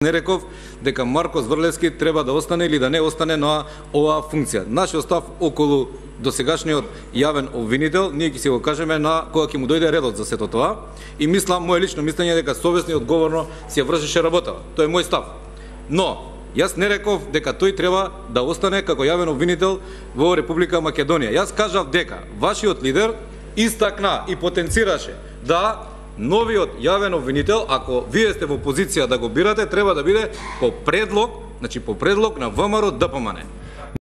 Не реков дека Марко Зврлевски треба да остане или да не остане на оваа функција. Нашиот став околу досегашниот јавен обвинител, ние ќе си го кажеме на кога ќе му дојде редот за сето тоа и мислам, мое лично мислење дека совесно и одговорно си ја вршеше работа. Тоа е мој став. Но јас не реков дека тој треба да остане како јавен обвинител во Република Македонија. Јас кажав дека вашиот лидер истакна и потенцираше да новиот јавен обвинител, ако вие сте во позиција да го бирате, треба да биде по предлог, значи по предлог на ВМРО ДПМН.